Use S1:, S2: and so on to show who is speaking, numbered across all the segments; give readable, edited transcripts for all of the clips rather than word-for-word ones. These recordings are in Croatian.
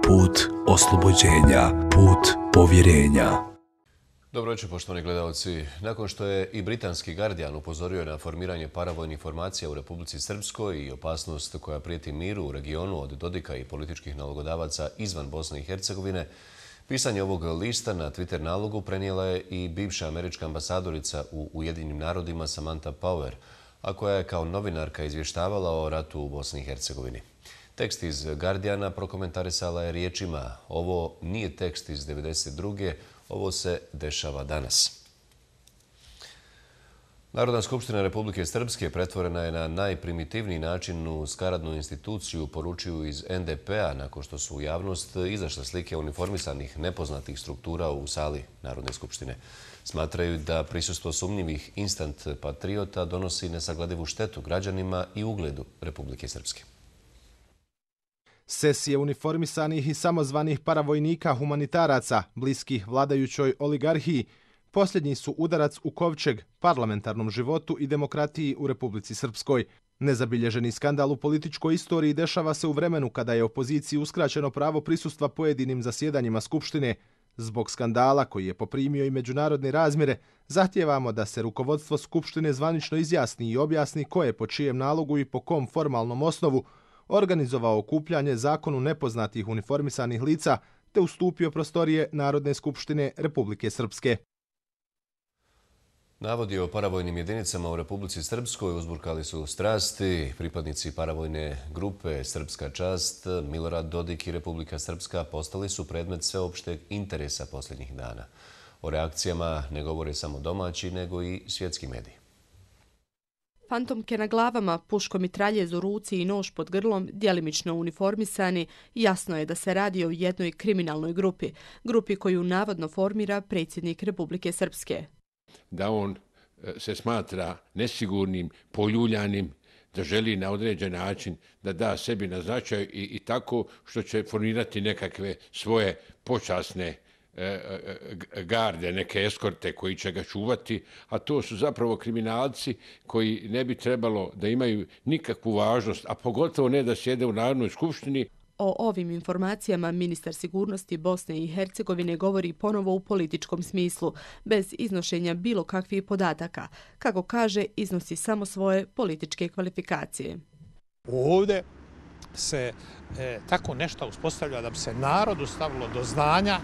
S1: put oslobođenja, put povjerenja.
S2: Dobro večer, poštovani gledalci. Nakon što je i britanski Guardian upozorio na formiranje paravojnih formacija u Republici Srpskoj i opasnost koja prijeti miru u regionu od Dodika i političkih nalogodavaca izvan Bosne i Hercegovine, pisanje ovog lista na Twitter nalogu prenijela je i bivša američka ambasadorica u Ujedinjenim narodima Samantha Power, a koja je kao novinarka izvještavala o ratu u Bosni i Hercegovini. Tekst iz Guardiana prokomentarisala je riječima: "Ovo nije tekst iz 1992. Ovo se dešava danas." Narodna skupština Republike Srpske pretvorena je na najprimitivniji način u skaradnu instituciju, poručuju iz NDP-a nakon što su u javnost izašle slike uniformisanih nepoznatih struktura u sali Narodne skupštine. Smatraju da prisustvo sumnjivih instant patriota donosi nesagledivu štetu građanima i ugledu Republike Srpske.
S3: Sesije uniformisanih i samozvanih paravojnika humanitaraca, bliskih vladajućoj oligarhiji, posljednji su udarac u kovčeg parlamentarnom životu i demokratiji u Republici Srpskoj. Nezabilježeni skandal u političkoj istoriji dešava se u vremenu kada je opoziciji uskraćeno pravo prisustva pojedinim zasjedanjima Skupštine. Zbog skandala koji je poprimio i međunarodne razmjere, zahtijevamo da se rukovodstvo Skupštine zvanično izjasni i objasni ko je po čijem nalogu i po kom formalnom osnovu organizovao okupljanje zakonu nepoznatih uniformisanih lica te ustupio prostorije Narodne skupštine Republike Srpske.
S2: Navodi o paravojnim jedinicama u Republici Srpskoj uzburkali su strasti. Pripadnici paravojne grupe Srpska čast, Milorad Dodik i Republika Srpska postali su predmet sveopšteg interesa posljednjih dana. O reakcijama ne govore samo domaći, nego i svjetski mediji.
S4: Fantomke na glavama, puškomitraljez u ruci i nož pod grlom, djelimično uniformisani, jasno je da se radi o jednoj kriminalnoj grupi koju navodno formira predsjednik Republike Srpske.
S5: Da on se smatra nesigurnim, poljuljanim, da želi na određen način da da sebi na značaju i tako što će formirati nekakve svoje počasne garde, neke eskorte koji će ga čuvati, a to su zapravo kriminalci koji ne bi trebalo da imaju nikakvu važnost, a pogotovo ne da sjede u Narodnoj skupštini.
S4: O ovim informacijama ministar sigurnosti Bosne i Hercegovine govori ponovo u političkom smislu, bez iznošenja bilo kakvih podataka. Kako kaže, iznosi samo svoje političke kvalifikacije.
S6: Ovdje se tako nešto uspostavlja da bi se narodu stavilo do znanja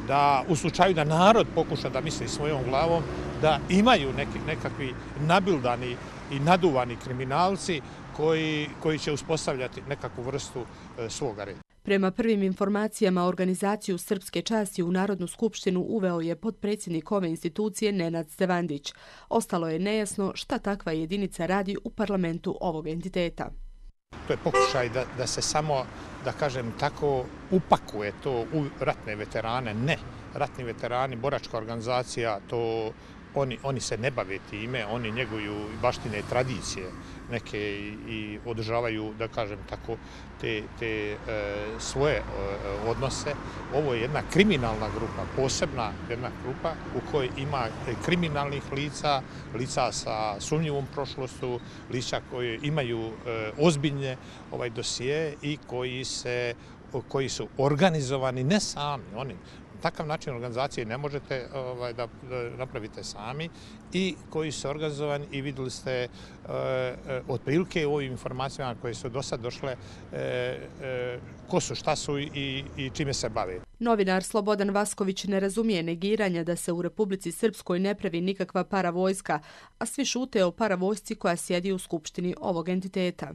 S6: da u slučaju da narod pokuša da misli svojom glavom, da imaju nekakvi nabildani i naduvani kriminalci koji će uspostavljati nekakvu vrstu svoga reda.
S4: Prema prvim informacijama, organizaciju Srpske časti u Narodnu skupštinu uveo je potpredsjednik ove institucije Nenad Stevandić. Ostalo je nejasno šta takva jedinica radi u parlamentu ovog entiteta.
S6: To je pokušaj da se samo, da kažem tako, upakuje to u ratne veterane. Ne, ratni veterani, boračka organizacija, to oni se ne bave time, oni njeguju baštine tradicije neke i održavaju, da kažem tako, te svoje odnose. Ovo je jedna kriminalna grupa, posebna jedna grupa u kojoj ima kriminalnih lica sa sumnjivom prošlošću, lica koji imaju ozbiljne dosije i koji su organizovani ne sami, oni. Takav način organizacije ne možete da napravite sami i koji su organizovani i vidjeli ste otprilike u ovim informacijama koje su do sad došle ko su, šta su i čime se bave.
S4: Novinar Slobodan Vasković ne razumije negiranja da se u Republici Srpskoj ne pravi nikakva paravojska, a svi šute o paravojsci koja sjedi u skupštini ovog entiteta.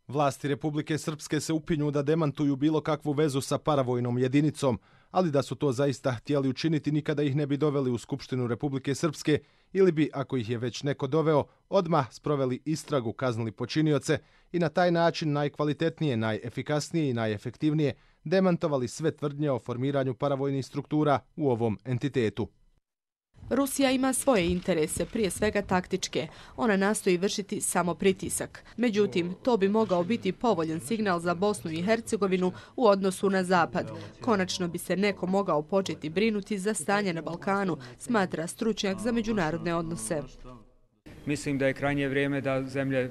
S3: Vlasti Republike Srpske se upinju da demantuju bilo kakvu vezu sa paravojnom jedinicom, ali da su to zaista htjeli učiniti nikada ih ne bi doveli u Skupštinu Republike Srpske ili bi, ako ih je već neko doveo, odmah sproveli istragu, kaznili počinioce i na taj način najkvalitetnije, najefikasnije i najefektivnije demantovali sve tvrdnje o formiranju paravojnih struktura u ovom entitetu.
S4: Rusija ima svoje interese, prije svega taktičke. Ona nastoji vršiti samo pritisak. Međutim, to bi mogao biti povoljan signal za Bosnu i Hercegovinu u odnosu na Zapad. Konačno bi se neko mogao početi brinuti za stanje na Balkanu, smatra stručnjak za međunarodne odnose.
S7: Mislim da je krajnje vrijeme da zemlje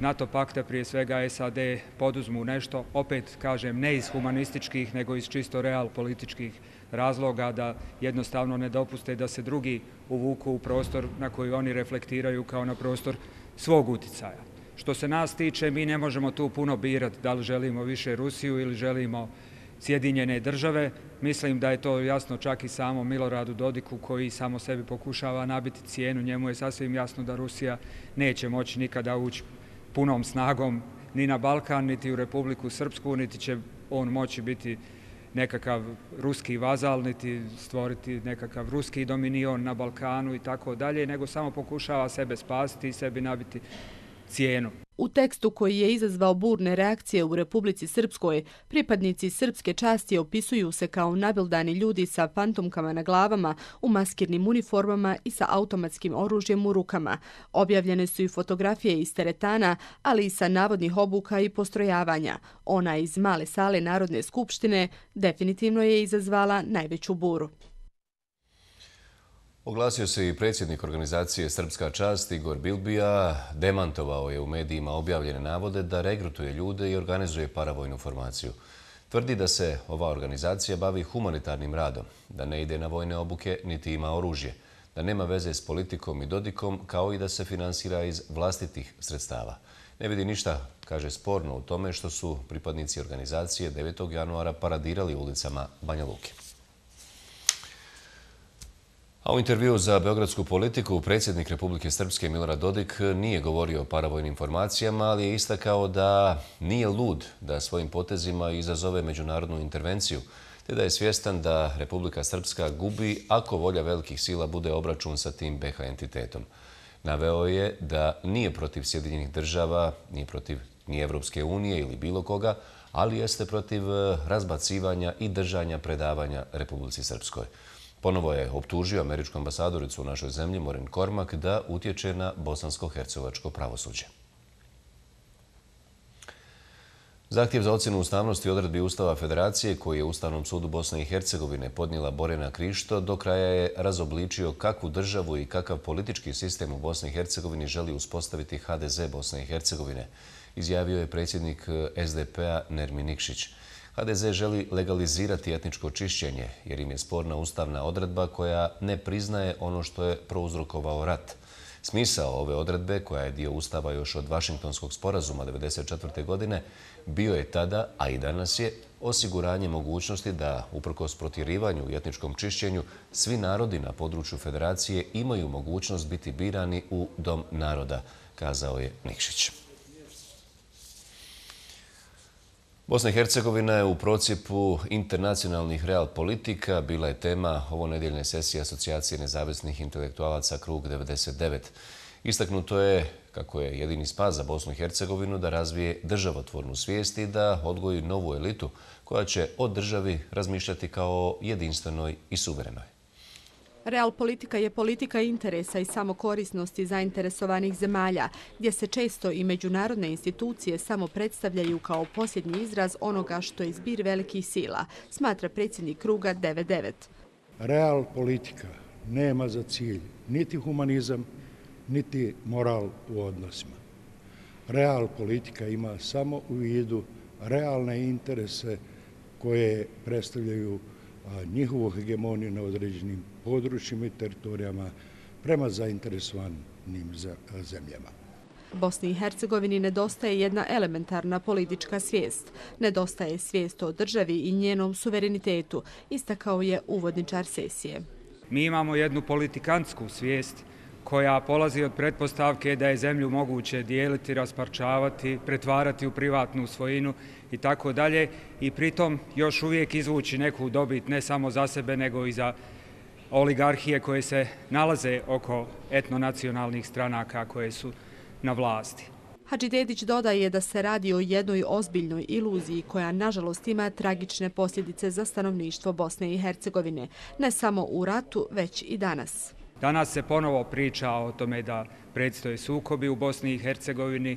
S7: NATO pakta, prije svega SAD, poduzmu nešto, opet kažem, ne iz humanističkih, nego iz čisto realpolitičkih razloga, da jednostavno ne dopuste da se drugi uvuku u prostor na koji oni reflektiraju kao na prostor svog uticaja. Što se nas tiče, mi ne možemo tu puno birati da li želimo više Rusiju ili želimo Sjedinjene države. Mislim da je to jasno čak i samo Miloradu Dodiku, koji samo sebi pokušava nabiti cijenu. Njemu je sasvim jasno da Rusija neće moći nikada ući punom snagom ni na Balkan, niti u Republiku Srpsku, niti će on moći biti nekakav ruski vazal, niti stvoriti nekakav ruski dominion na Balkanu i tako dalje, nego samo pokušava sebe spasiti i sebi nabiti cijenu.
S4: U tekstu koji je izazvao burne reakcije u Republici Srpskoj, pripadnici srpske časti opisuju se kao nabildani ljudi sa fantomkama na glavama, u maskirnim uniformama i sa automatskim oružjem u rukama. Objavljene su i fotografije iz teretana, ali i sa navodnih obuka i postrojavanja. Ona iz male sale Narodne skupštine definitivno je izazvala najveću buru.
S2: Oglasio se i predsjednik organizacije Srpska čast Igor Bilbija, demantovao je u medijima objavljene navode da regrutuje ljude i organizuje paravojnu formaciju. Tvrdi da se ova organizacija bavi humanitarnim radom, da ne ide na vojne obuke niti ima oružje, da nema veze s politikom i Dodikom, kao i da se finansira iz vlastitih sredstava. Ne vidi ništa, kaže, sporno u tome što su pripadnici organizacije 9. januara paradirali ulicama Banja Luke. A u intervjuu za Beogradsku politiku predsjednik Republike Srpske Milorad Dodik nije govorio o paravojnim formacijama, ali je istakao da nije lud da svojim potezima izazove međunarodnu intervenciju, te da je svjestan da Republika Srpska gubi ako volja velikih sila bude obračun sa tim BiH entitetom. Naveo je da nije protiv Sjedinjenih država, nije protiv ni Evropske unije ili bilo koga, ali jeste protiv razbacivanja i držanja predavanja Republici Srpskoj. Ponovo je optužio američku ambasadoricu u našoj zemlji, Maureen Cormack, da utječe na bosansko-hercegovačko pravosuđe. Zahtjev za ocjenu ustavnosti odredbi Ustava Federacije, koji je Ustavnom sudu Bosne i Hercegovine podnijela Borjana Krišto, do kraja je razobličio kakvu državu i kakav politički sistem u Bosni i Hercegovini želi uspostaviti HDZ Bosne i Hercegovine, izjavio je predsjednik SDP-a Nermin Nikšić. HDZ želi legalizirati etničko čišćenje, jer im je sporna ustavna odredba koja ne priznaje ono što je prouzrokovao rat. Smisao ove odredbe, koja je dio Ustava još od Vašingtonskog sporazuma 1994. godine, bio je tada, a i danas je, osiguranje mogućnosti da, uprkos protjerivanju i etničkom čišćenju, svi narodi na području Federacije imaju mogućnost biti birani u Dom naroda, kazao je Nikšić. Bosna i Hercegovina je u procjepu internacionalnih real politika. Bila je tema ovonedjeljne sesije Asocijacije nezavisnih intelektualaca Krug 99. Istaknuto je kako je jedini spas za Bosnu i Hercegovinu da razvije državotvornu svijest i da odgoji novu elitu koja će o državi razmišljati kao jedinstvenoj i suverenoj.
S4: Real politika je politika interesa i samokorisnosti zainteresovanih zemalja, gdje se često i međunarodne institucije samo predstavljaju kao posljednji izraz onoga što je zbir velikih sila, smatra predsjednik Kruga 99.
S8: Real politika nema za cilj niti humanizam, niti moral u odnosima. Real politika ima samo u vidu realne interese koje predstavljaju njihovu hegemoniju na određenim područjima i teritorijama prema zainteresovanim zemljama.
S4: Bosni i Hercegovini nedostaje jedna elementarna politička svijest. Nedostaje svijest o državi i njenom suverenitetu, istakao je uvodničar sesije.
S7: Mi imamo jednu politikantsku svijest koja polazi od pretpostavke da je zemlju moguće dijeliti, rasparčavati, pretvarati u privatnu svojinu i tako dalje, i pritom još uvijek izvući neku dobit ne samo za sebe nego i za oligarhije koje se nalaze oko etnonacionalnih stranaka koje su na vlasti.
S4: Hadžidedić dodaje da se radi o jednoj ozbiljnoj iluziji koja nažalost ima tragične posljedice za stanovništvo Bosne i Hercegovine, ne samo u ratu, već i danas.
S7: Danas se ponovo priča o tome da predstoje sukobi u Bosni i Hercegovini,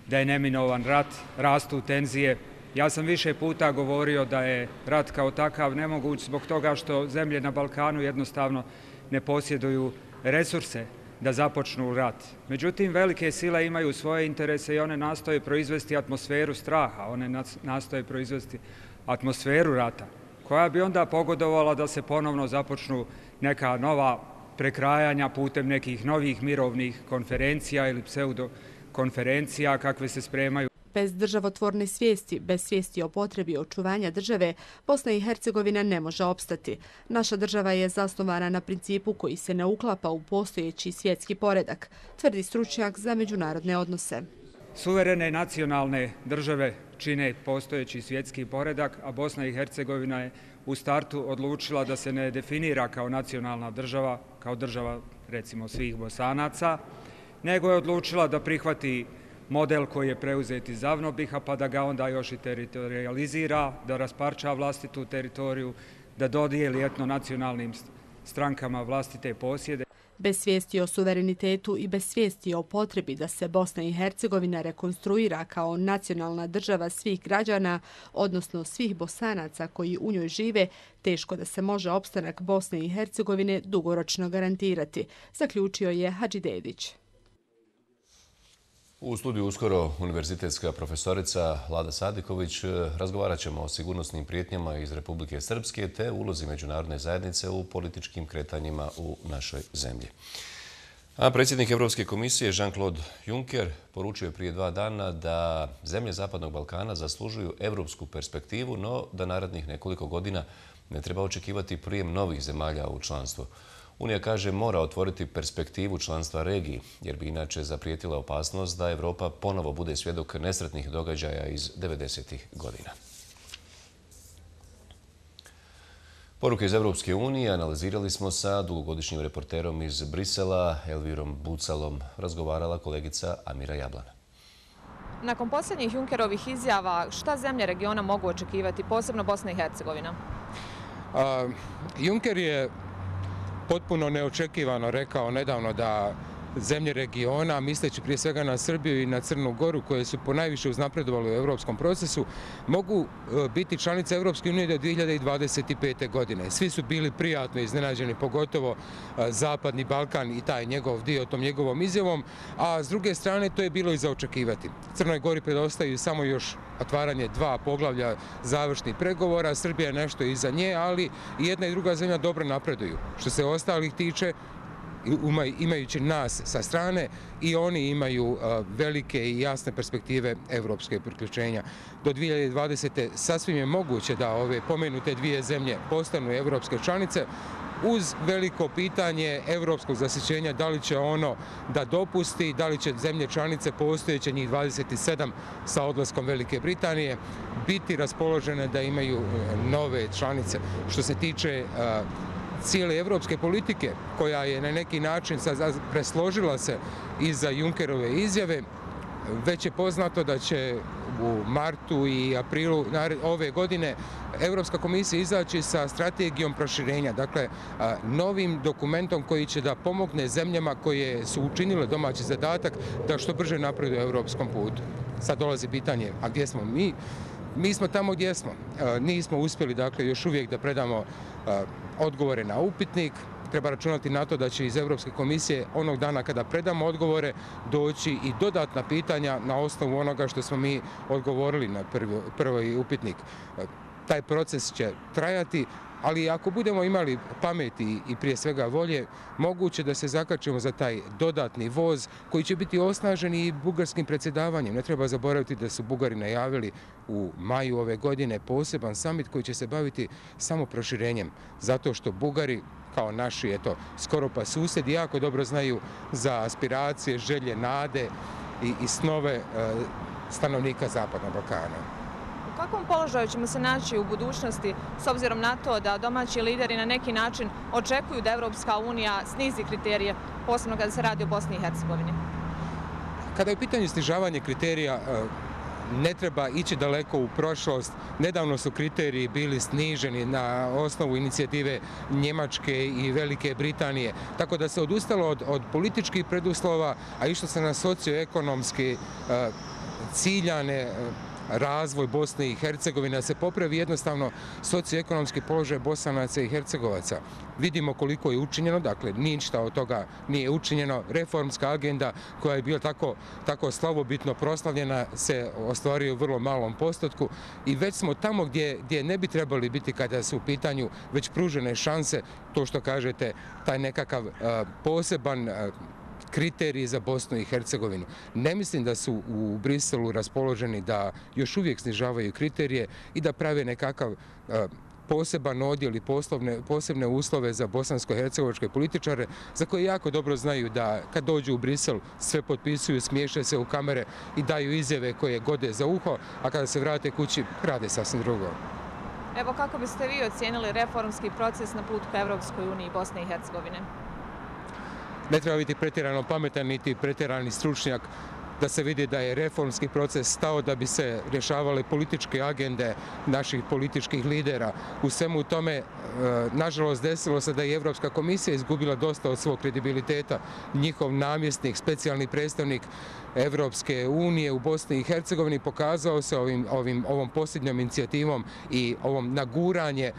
S7: da je neminovan rat, rastu tenzije. Ja sam više puta govorio da je rat kao takav nemoguć zbog toga što zemlje na Balkanu jednostavno ne posjeduju resurse da započnu rat. Međutim, velike sile imaju svoje interese i one nastoje proizvesti atmosferu straha, one nastoje proizvesti atmosferu rata, koja bi onda pogodovala da se ponovno započnu neka nova prekrajanja putem nekih novih mirovnih konferencija ili pseudokonferencija kakve se spremaju.
S4: Bez državotvorne svijesti, bez svijesti o potrebi očuvanja države, Bosna i Hercegovina ne može opstati. Naša država je zasnovana na principu koji se ne uklapa u postojeći svjetski poredak, tvrdi stručnjak za međunarodne odnose.
S7: Suverene nacionalne države čine postojeći svjetski poredak, a Bosna i Hercegovina je u startu odlučila da se ne definira kao nacionalna država, kao država recimo svih Bosanaca, nego je odlučila da prihvati model koji je preuzet iz Zavnobiha, pa da ga onda još i teritorializira, da rasparča vlastitu teritoriju, da dodijeli etnonacionalnim strankama vlastite posjede.
S4: Bez svijesti o suverenitetu i bez svijesti o potrebi da se Bosna i Hercegovina rekonstruira kao nacionalna država svih građana, odnosno svih Bosanaca koji u njoj žive, teško da se može opstanak Bosne i Hercegovine dugoročno garantirati, zaključio je Hadžidedić.
S2: U studiju uskoro univerzitetska profesorica Lada Sadiković. Razgovarat ćemo o sigurnosnim prijetnjama iz Republike Srpske te ulozi međunarodne zajednice u političkim kretanjima u našoj zemlji. A predsjednik Europske komisije Jean-Claude Juncker poručio je prije 2 dana da zemlje Zapadnog Balkana zaslužuju europsku perspektivu, no da narednih nekoliko godina ne treba očekivati prijem novih zemalja u članstvo. Unija, kaže, mora otvoriti perspektivu članstva regiji, jer bi inače zaprijetila opasnost da Evropa ponovo bude svjedok nesretnih događaja iz 90-ih godina. Poruke iz Evropske unije analizirali smo sa dugogodišnjim reporterom iz Brisela, Elvirom Bucalom. Razgovarala kolegica Amira Jablana.
S9: Nakon posljednjih Junckerovih izjava, šta zemlje regiona mogu očekivati, posebno Bosna i Hercegovina?
S10: Juncker je potpuno neočekivano rekao nedavno da zemlje regiona, misleći prije svega na Srbiju i na Crnu Goru, koje su ponajviše uznapredovali u europskom procesu, mogu biti članice Europske unije do 2025. godine. Svi su bili prijatno iznenađeni, pogotovo Zapadni Balkan i taj njegov dio tom njegovom izjavom, a s druge strane to je bilo i za očekivati. Crnoj Gori predostaju samo još otvaranje 2 poglavlja završnih pregovora, Srbija je nešto iza nje, ali i jedna i druga zemlja dobro napreduju. Što se ostalih tiče, imajući nas sa strane, i oni imaju velike i jasne perspektive evropske priključenja. Do 2020. sasvim je moguće da ove pomenute 2 zemlje postanu evropske članice, uz veliko pitanje evropskog zasićenja, da li će ono da dopusti, da li će zemlje članice postojeće, njih 27 sa odlaskom Velike Britanije, biti raspoložene da imaju nove članice. Što se tiče cijele evropske politike, koja je na neki način presložila se iza Junckerove izjave, već je poznato da će u martu i aprilu ove godine Europska komisija izaći sa strategijom proširenja, dakle novim dokumentom koji će da pomogne zemljama koje su učinile domaći zadatak da što brže napreduju u europskom putu. Sad dolazi pitanje, a gdje smo mi? Mi smo tamo gdje smo. Nismo uspjeli, dakle, još uvijek da predamo odgovore na upitnik. Treba računati na to da će iz Europske komisije onog dana kada predamo odgovore doći i dodatna pitanja na osnovu onoga što smo mi odgovorili na prvi upitnik. Taj proces će trajati, ali ako budemo imali pameti i prije svega volje, moguće da se zakačimo za taj dodatni voz koji će biti osnažen i bugarskim predsjedavanjem. Ne treba zaboraviti da su Bugari najavili u maju ove godine poseban samit koji će se baviti samo proširenjem, zato što Bugari, kao naši, skoro pa susjedi, jako dobro znaju za aspiracije, želje, nade i snove stanovnika Zapadnog Balkana.
S9: U kakvom položaju ćemo se naći u budućnosti s obzirom na to da domaći lideri na neki način očekuju da Evropska unija snizi kriterije, posebno kada se radi o Bosni i Hercegovini?
S10: Kada je u pitanju snižavanje kriterija, ne treba ići daleko u prošlost. Nedavno su kriteriji bili sniženi na osnovu inicijative Njemačke i Velike Britanije, tako da se odustalo od političkih preduslova, a išlo se na socioekonomski ciljane razvoj Bosne i Hercegovine, da se popravi jednostavno socioekonomski položaj Bosanaca i Hercegovaca. Vidimo koliko je učinjeno, dakle ništa od toga nije učinjeno. Reformska agenda koja je bila tako slavobitno proslavljena se ostvaruje u vrlo malom postotku i već smo tamo gdje ne bi trebali biti kada su u pitanju već pružene šanse, to što kažete, taj nekakav poseban kriteriji za Bosnu i Hercegovinu. Ne mislim da su u Briselu raspoloženi da još uvijek snižavaju kriterije i da prave nekakav poseban odjel i posebne uslove za bosansko-hercegovačke političare za koje jako dobro znaju da kad dođu u Brisel sve potpisuju, smiješe se u kamere i daju izjave koje gode za uho, a kada se vrate kući rade sasvim drugo.
S9: Evo kako biste vi ocijenili reformski proces na putu ka Evropskoj uniji Bosne i Hercegovine?
S10: Ne treba biti pretjerano pametan niti pretjerani stručnjak da se vidi da je reformski proces stao da bi se rješavale političke agende naših političkih lidera. U svemu tome, nažalost, desilo se da je Evropska komisija izgubila dosta od svog kredibiliteta. Njihov namjesnik, specijalni predstavnik Evropske unije u Bosni i Hercegovini pokazao se ovom posljednjom inicijativom i ovom naguranje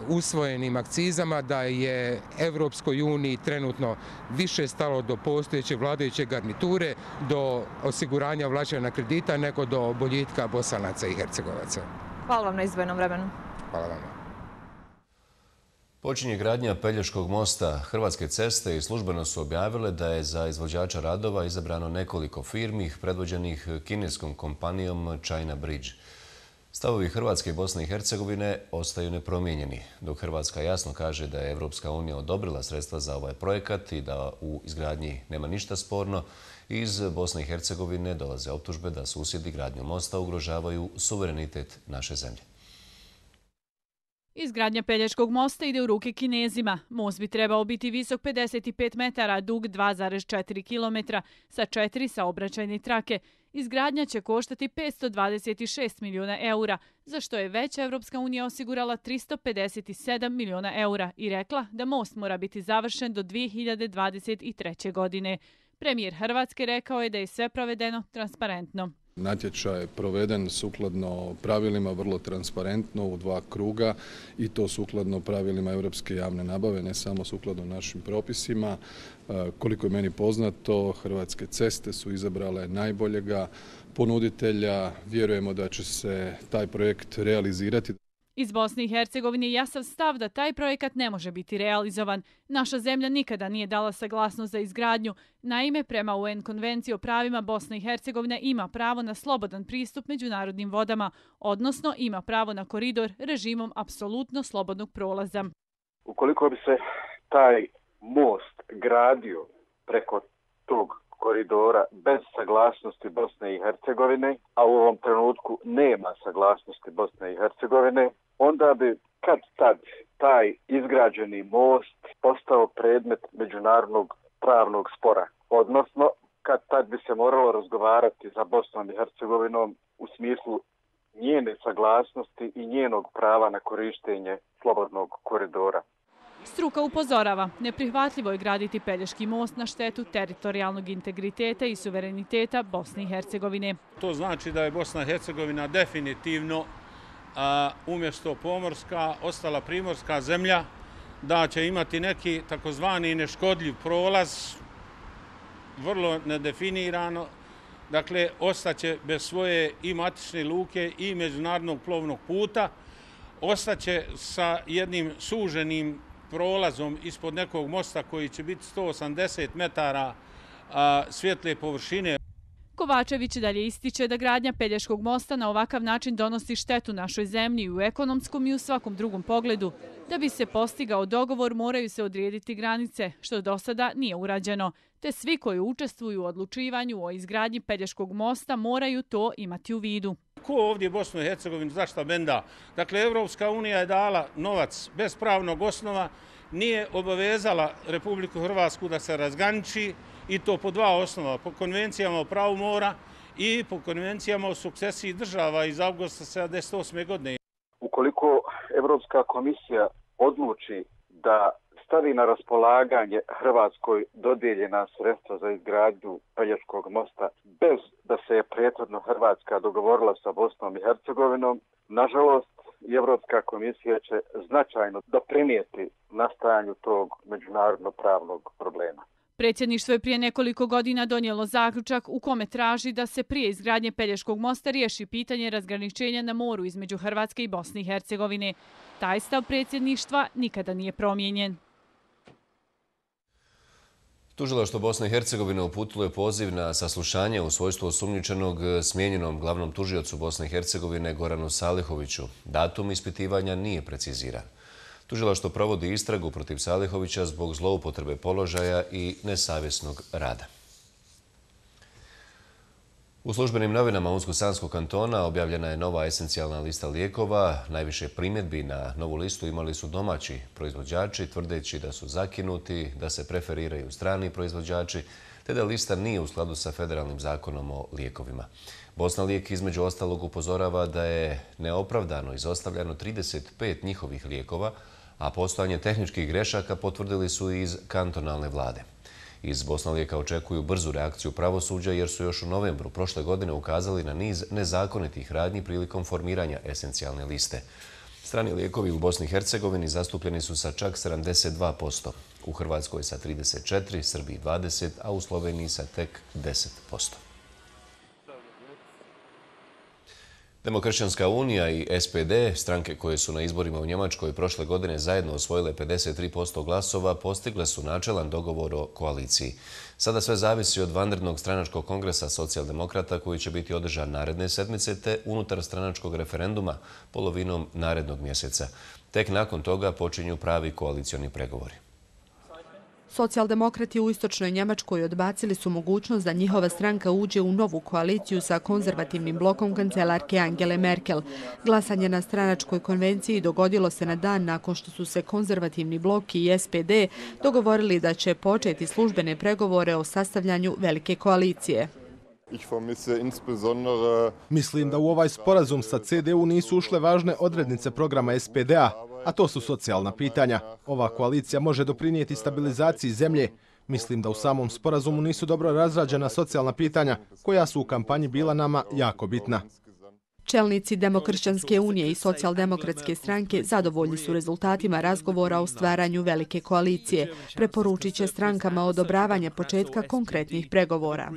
S10: usvojenim akcizama da je Evropskoj uniji trenutno više stalo do postojeće vladajuće garniture, do osiguranja vraćanja kredita nego do boljitka Bosanaca i Hercegovaca.
S9: Hvala vam na izdvojenom vremenu.
S10: Hvala vam.
S2: Počinje gradnja Pelješkog mosta. Hrvatske ceste i službeno su objavile da je za izvođača radova izabrano nekoliko firmi predvođenih kineskom kompanijom China Bridge. Stavovi Hrvatske i Bosne i Hercegovine ostaju nepromijenjeni, dok Hrvatska jasno kaže da je Evropska unija odobrila sredstva za ovaj projekat i da u izgradnji nema ništa sporno. Iz Bosne i Hercegovine dolaze optužbe da susjedi gradnju mosta ugrožavaju suverenitet naše zemlje.
S11: Izgradnja Pelješkog mosta ide u ruke Kinezima. Most bi trebao biti visok 55 metara, dug 2,4 km sa 4 saobraćajne trake. Izgradnja će koštati 526 milijuna eura, za što je već Evropska unija osigurala 357 milijuna eura i rekla da most mora biti završen do 2023. godine. Premijer Hrvatske rekao je da je sve provedeno transparentno.
S12: Natječaj je proveden sukladno pravilima, vrlo transparentno u 2 kruga i to sukladno pravilima europske javne nabave, ne samo sukladno našim propisima. Koliko je meni poznato, Hrvatske ceste su izabrale najboljega ponuditelja. Vjerujemo da će se taj projekt realizirati.
S11: Iz Bosne i Hercegovine je jasan stav da taj projekat ne može biti realizovan. Naša zemlja nikada nije dala saglasnost za izgradnju. Naime, prema UN konvenciji o pravima Bosne i Hercegovine ima pravo na slobodan pristup međunarodnim vodama, odnosno ima pravo na koridor režimom apsolutno slobodnog prolaza.
S13: Ukoliko bi se taj most gradio preko tog koridora bez saglasnosti Bosne i Hercegovine, a u ovom trenutku nema saglasnosti Bosne i Hercegovine, onda bi kad tad taj izgrađeni most postao predmet međunarodnog pravnog spora. Odnosno, kad tad bi se moralo razgovarati za Bosnom i Hercegovinom u smislu njene saglasnosti i njenog prava na korištenje slobodnog koridora.
S11: Struka upozorava, neprihvatljivo je graditi Pelješki most na štetu teritorijalnog integriteta i suvereniteta Bosne i Hercegovine.
S14: To znači da je Bosna i Hercegovina definitivno umjesto pomorska ostala primorska zemlja, da će imati neki takozvani neškodljiv prolaz, vrlo nedefinirano. Dakle, ostaće bez svoje i matične luke i međunarodnog plovnog puta, ostaće sa jednim suženim prolazom ispod nekog mosta koji će biti 180 metara svjetle površine.
S11: Kovačević dalje ističe da gradnja Pelješkog mosta na ovakav način donosi štetu našoj zemlji u ekonomskom i u svakom drugom pogledu. Da bi se postigao dogovor moraju se odrediti granice, što do sada nije urađeno, te svi koji učestvuju u odlučivanju o izgradnji Pelješkog mosta moraju to imati u vidu.
S14: Ko ovdje Bosnu i Hercegovinu zašta benda? Dakle, Evropska unija je dala novac bez pravnog osnova, nije obavezala Republiku Hrvatsku da se razgraniči i to po 2 osnova, po konvencijama o pravu mora i po konvencijama o sukcesiji država iz avgusta 1978. godine.
S13: Ukoliko Evropska komisija odluči da stavi na raspolaganje Hrvatskoj dodijeljena sredstva za izgradnju Pelješkog mosta bez da se je prethodno Hrvatska dogovorila sa Bosnom i Hercegovinom, nažalost, Evropska komisija će značajno doprinijeti nastajanju tog međunarodno pravnog problema.
S11: Predsjedništvo je prije nekoliko godina donijelo zaključak u kome traži da se prije izgradnje Pelješkog mosta riješi pitanje razgraničenja na moru između Hrvatske i Bosne i Hercegovine. Taj stav predsjedništva nikada nije promijenjen.
S2: Tužilaštvo Bosne i Hercegovine uputilo je poziv na saslušanje u svojstvu osumnjičenog smijenjenom glavnom tužiocu Bosne i Hercegovine Goranu Salihoviću. Datum ispitivanja nije preciziran. Tužilaštvo provodi istragu protiv Salihovića zbog zloupotrebe položaja i nesavjesnog rada. U službenim novinama Unsko-Sanskog kantona objavljena je nova esencijalna lista lijekova. Najviše primjedbi na novu listu imali su domaći proizvođači, tvrdeći da su zakinuti, da se preferiraju strani proizvođači, te da lista nije u skladu sa federalnim zakonom o lijekovima. Bosna lijek između ostalog upozorava da je neopravdano izostavljeno 35 njihovih lijekova, a postojanje tehničkih grešaka potvrdili su iz kantonalne vlade. Iz Bosna lijeka očekuju brzu reakciju pravosuđa jer su još u novembru prošle godine ukazali na niz nezakonitih radnji prilikom formiranja esencijalne liste. Strani lijekovi u Bosni i Hercegovini zastupljeni su sa čak 72%, u Hrvatskoj sa 34%, Srbiji 20%, a u Sloveniji sa tek 10%. Demokršćanska unija i SPD, stranke koje su na izborima u Njemačkoj prošle godine zajedno osvojile 53% glasova, postigle su načelan dogovor o koaliciji. Sada sve zavisi od vanrednog stranačkog kongresa socijaldemokrata koji će biti održan naredne sedmice te unutar stranačkog referenduma polovinom narednog mjeseca. Tek nakon toga počinju pravi koalicioni pregovori.
S4: Socijaldemokrati u istočnoj Njemačkoj odbacili su mogućnost da njihova stranka uđe u novu koaliciju sa konzervativnim blokom kancelarke Angele Merkel. Glasanje na stranačkoj konvenciji dogodilo se na dan nakon što su se konzervativni blok i SPD dogovorili da će početi službene pregovore o sastavljanju velike koalicije.
S3: Mislim da u ovaj sporazum sa CDU nisu ušle važne odrednice programa SPD-a, a to su socijalna pitanja. Ova koalicija može doprinijeti stabilizaciji zemlje. Mislim da u samom sporazumu nisu dobro razrađena socijalna pitanja, koja su u kampanji bila nama jako bitna.
S4: Čelnici Demokršćanske unije i Socijaldemokratske stranke zadovoljni su rezultatima razgovora o stvaranju velike koalicije. Preporučit će strankama odobravanja početka konkretnih pregovora.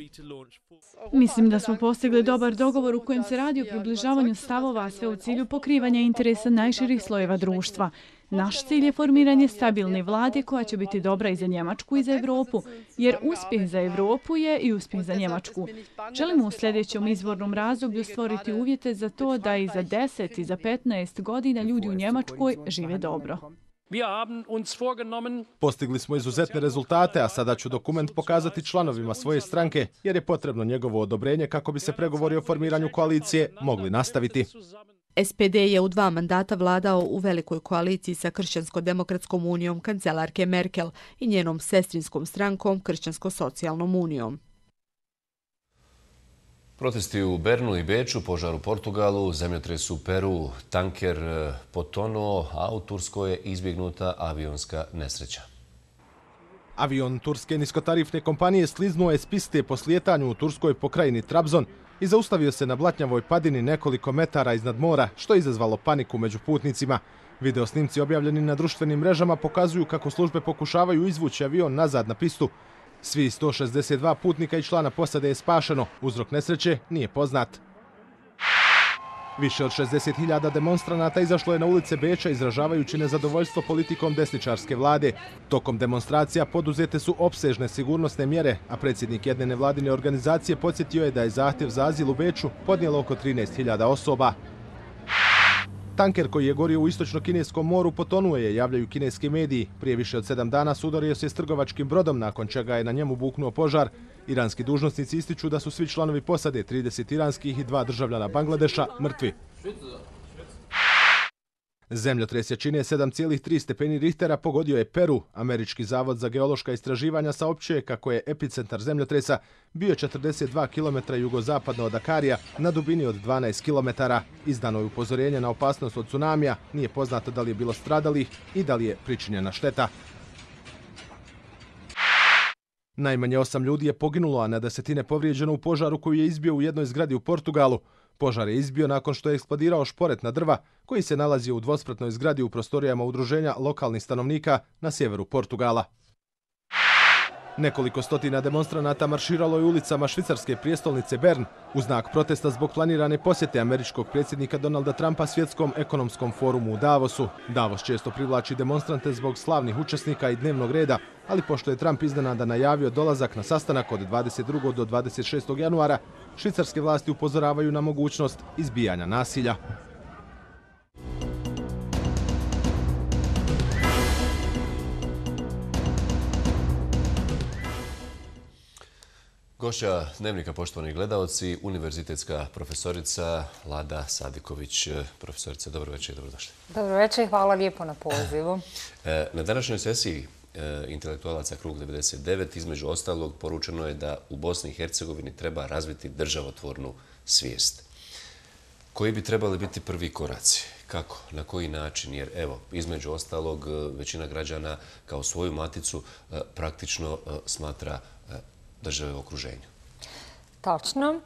S11: Mislim da smo postigli dobar dogovor u kojem se radi o približavanju stavova, sve u cilju pokrivanja interesa najširih slojeva društva. Naš cilj je formiranje stabilne vlade koja će biti dobra i za Njemačku i za Evropu, jer uspjeh za Evropu je i uspjeh za Njemačku. Želimo u sljedećem izbornom razdoblju stvoriti uvjete za to da i za 10 i za 15 godina ljudi u Njemačkoj žive dobro.
S3: Postigli smo izuzetne rezultate, a sada ću dokument pokazati članovima svoje stranke, jer je potrebno njegovo odobrenje kako bi se pregovori o formiranju koalicije mogli nastaviti.
S4: SPD je u 2 mandata vladao u velikoj koaliciji sa Kršćansko-demokratskom unijom kancelarke Merkel i njenom sestrinskom strankom Kršćansko-socijalnom unijom.
S2: Protesti u Bernu i Beču, požar u Portugalu, zemljotres u Peru, tanker potonuo, a u Turskoj je izbjegnuta avionska nesreća.
S3: Avion turske niskotarifne kompanije sliznuo je s piste po slijetanju u turskoj pokrajini Trabzon i zaustavio se na blatnjavoj padini nekoliko metara iznad mora, što je izazvalo paniku među putnicima. Video snimci objavljeni na društvenim mrežama pokazuju kako službe pokušavaju izvući avion nazad na pistu. Svi 162 putnika i člana posade je spašeno. Uzrok nesreće nije poznat. Više od 60.000 demonstranata izašlo je na ulice Beča izražavajući nezadovoljstvo politikom desničarske vlade. Tokom demonstracija poduzete su opsežne sigurnosne mjere, a predsjednik jedne nevladine organizacije podsjetio je da je zahtjev za azil u Beču podnijelo oko 13.000 osoba. Tanker koji je gorio u istočno-kineskom moru potonuo je, javljaju kineski mediji. Prije više od 7 dana sudario se s trgovačkim brodom, nakon čega je na njemu buknuo požar. Iranski dužnosnici ističu da su svi članovi posade, 30 iranskih i 2 državljana Bangladeša, mrtvi. Zemljotres jačine 7,3 stepeni Richtera pogodio je Peru. Američki zavod za geološka istraživanja saopćuje kako je epicentar zemljotresa bio 42 km jugozapadno od Dakarija na dubini od 12 km. Izdano je upozorenje na opasnost od tsunamija, nije poznato da li je bilo stradalih i da li je pričinjena šteta. Najmanje 8 ljudi je poginulo, a na desetine povrijeđeno u požaru koji je izbio u jednoj zgradi u Portugalu. Požar je izbio nakon što je eksplodirao šporet na drva koji se nalazio u dvospratnoj zgradi u prostorijama udruženja lokalnih stanovnika na sjeveru Portugala. Nekoliko stotina demonstranata marširalo je ulicama švicarske prijestolnice Bern u znak protesta zbog planirane posjete američkog predsjednika Donalda Trumpa svjetskom ekonomskom forumu u Davosu. Davos često privlači demonstrante zbog slavnih učesnika i dnevnog reda, ali pošto je Trump iznenada najavio dolazak na sastanak od 22. do 26. januara, švicarske vlasti upozoravaju na mogućnost izbijanja nasilja.
S2: Gošća Dnevnika, poštovani gledaoci, univerzitetska profesorica Lada Sadiković. Profesorica, dobro večer i dobrodošli.
S15: Dobro večer, hvala lijepo na pozivu.
S2: Na današnjoj sesiji intelektualaca Krug 99 između ostalog poručeno je da u Bosni i Hercegovini treba razviti državotvornu svijest. Koji bi trebali biti prvi koraci? Kako? Na koji način? Jer evo, između ostalog, većina građana kao svoju maticu praktično smatra države u okruženju.
S15: Tačno.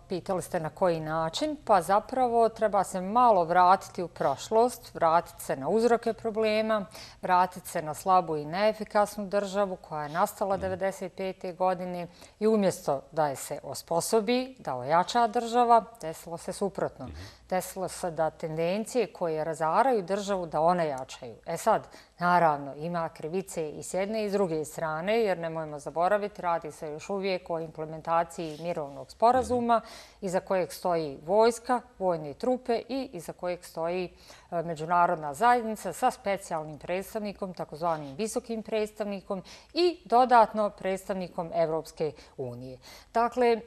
S15: Pitali ste na koji način, pa zapravo treba se malo vratiti u prošlost, vratiti se na uzroke problema, vratiti se na slabu i neefikasnu državu koja je nastala 1995. godine i umjesto da je se osposobi, da ojača država, desilo se suprotno. Desilo se da tendencije koje razaraju državu da one jačaju. Sad, naravno, ima krivice i s jedne i s druge strane, jer nemojmo zaboraviti, radi se još uvijek o implementaciji mirovnog sporazuma iza kojeg stoji vojska, vojne trupe i iza kojeg stoji međunarodna zajednica sa specijalnim predstavnikom, takozvanim visokim predstavnikom i dodatno predstavnikom Evropske unije. Dakle,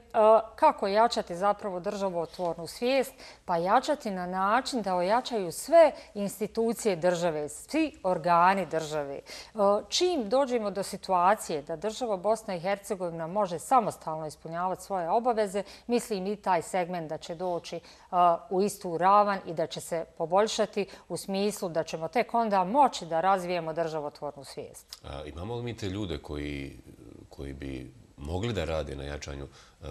S15: kako jačati zapravo državotvornu svijest? Pa jačati na način da ojačaju sve institucije države, svi organi države. Čim dođemo do situacije da država Bosna i Hercegovina može samostalno ispunjavati svoje obaveze, mislim i taj segment da će doći u istu ravan i da će se poboljšati u smislu da ćemo tek onda moći da razvijemo državotvornu svijest.
S2: Imamo li mi te ljude koji bi mogli da rade na jačanju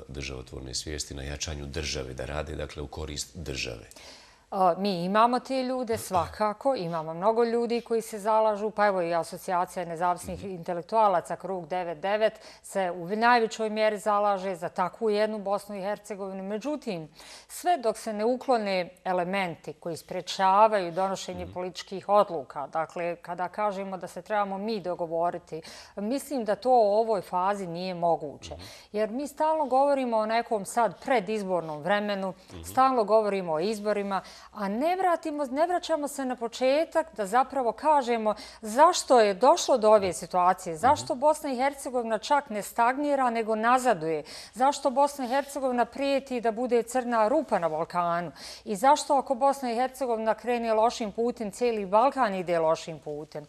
S2: državotvorne svijesti, na jačanju države, da rade dakle u korist države?
S15: Mi imamo te ljude, svakako. Imamo mnogo ljudi koji se zalažu. Pa evo i Asocijacija nezavisnih intelektualaca Krug 99 se u najvećoj mjeri zalaže za takvu jednu Bosnu i Hercegovinu. Međutim, sve dok se ne uklone elementi koji sprečavaju donošenje političkih odluka, dakle, kada kažemo da se trebamo mi dogovoriti, mislim da to u ovoj fazi nije moguće. Jer mi stalno govorimo o nekom sad predizbornom vremenu, stalno govorimo o izborima, a ne vraćamo se na početak da zapravo kažemo zašto je došlo do ove situacije, zašto Bosna i Hercegovina čak ne stagnira nego nazaduje, zašto Bosna i Hercegovina prijeti da bude crna rupa na Balkanu i zašto ako Bosna i Hercegovina krene lošim putem, cijeli Balkan ide lošim putem.